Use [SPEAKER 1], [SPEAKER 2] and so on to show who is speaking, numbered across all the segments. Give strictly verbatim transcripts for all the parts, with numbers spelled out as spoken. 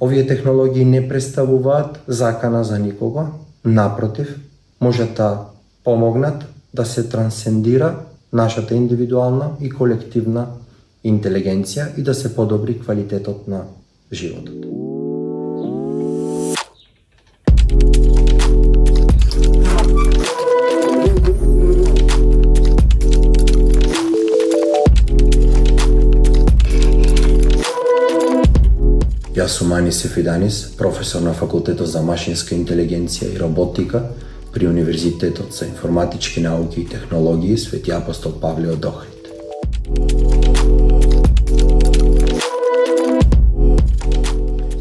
[SPEAKER 1] Овие технологии не представуваат закана за никого, напротив, можат да помогнат да се трансцендира нашата индивидуална и колективна интелигенција и да се подобри квалитетот на животот. Јас сум Анис Сефиданис, професор на Факултетот за машинска интелигенција и роботика при Универзитетот за информатички науки и технологии Свети Апостол Павле од Охрид.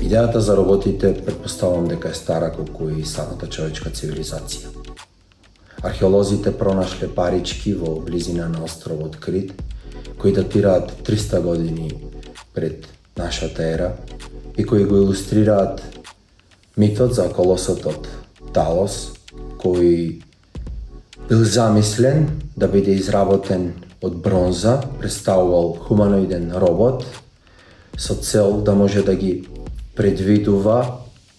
[SPEAKER 1] Идејата за роботите претпоставувам дека е стара колку и самата човечка цивилизација. Археолозите пронашле парички во близина на островот Крит, кои датираат триста години пред нашата ера и кои го илустрираат митот за колосот Талос, кој бил замислен да биде изработен од бронза, представувал хуманоиден робот со цел да може да ги предвидува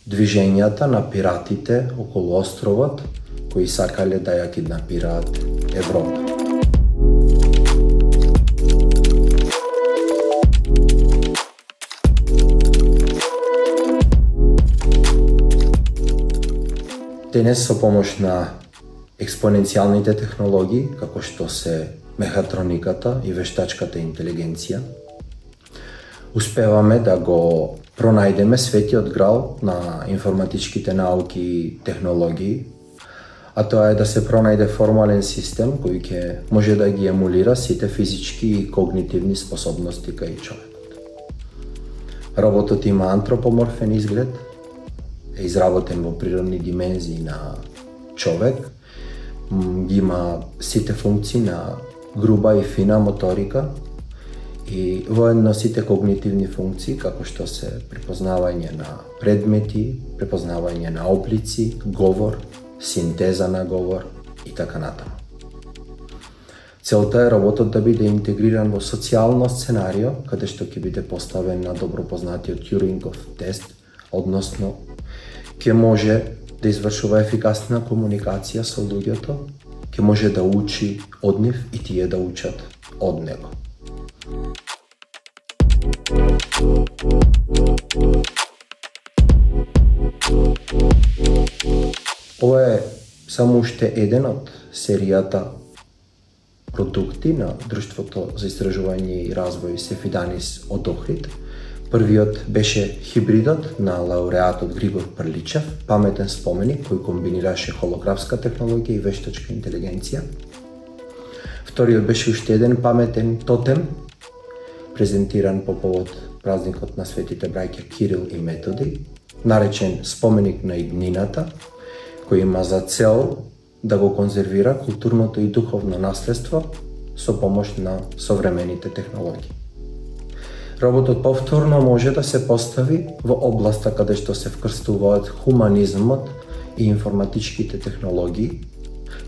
[SPEAKER 1] движењата на пиратите околу островот кои сакале да ја киднапираат Европа. Денес со помош на експоненцијалните технологии, како што се мехатрониката и вештачката интелигенција, успеваме да го пронајдеме светиот грал на информатичките науки и технологии, а тоа е да се пронајде формален систем кој ќе може да ги емулира сите физички и когнитивни способности кај човекот. Роботот има антропоморфен изглед, е изработен во природни димензии на човек, има сите функции на груба и фина моторика и воедно сите когнитивни функции, како што се препознавање на предмети, препознавање на облици, говор, синтеза на говор и така натаму. Целта е роботот да биде интегриран во социјално сценарио, каде што ќе биде поставен на добро познатиот Тјурингов тест, односно ќе може да извршува ефикасна комуникација со луѓето, ќе може да учи од нив и тие да учат од него. Ова е само уште еден од серијата продукти на Друштвото за истражување и развој Сефиданис од Охрид. Првиот беше хибридот на лауреатот Григор Прличев, паметен споменик кој комбинираше холографска технологија и вештачка интелигенција. Вториот беше уште еден паметен тотем, презентиран по повод празникот на светите браќа Кирил и Методи, наречен споменик на иднината, кој има за цел да го конзервира културното и духовно наследство со помош на современите технологии. Роботот повторно може да се постави во областа каде што се вкрстуваат хуманизмот и информатичките технологии,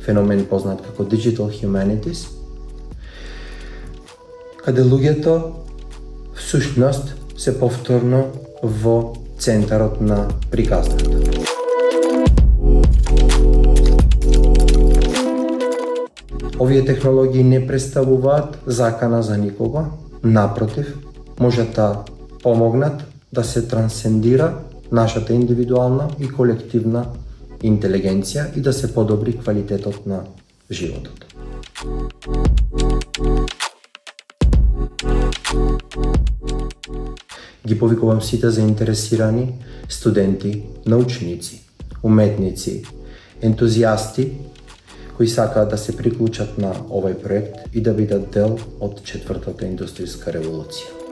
[SPEAKER 1] феномен познат како Digital Humanities, каде луѓето всушност се повторно во центарот на приказната. Овие технологии не представуваат закана за никого, напротив, можат да помогнат да се трансцендира нашата индивидуална и колективна интелигенција и да се подобри квалитетот на животот. Ги повикувам сите заинтересирани студенти, научници, уметници, ентузијасти кои сакаат да се приклучат на овој проект и да бидат дел од четвртата индустријска револуција.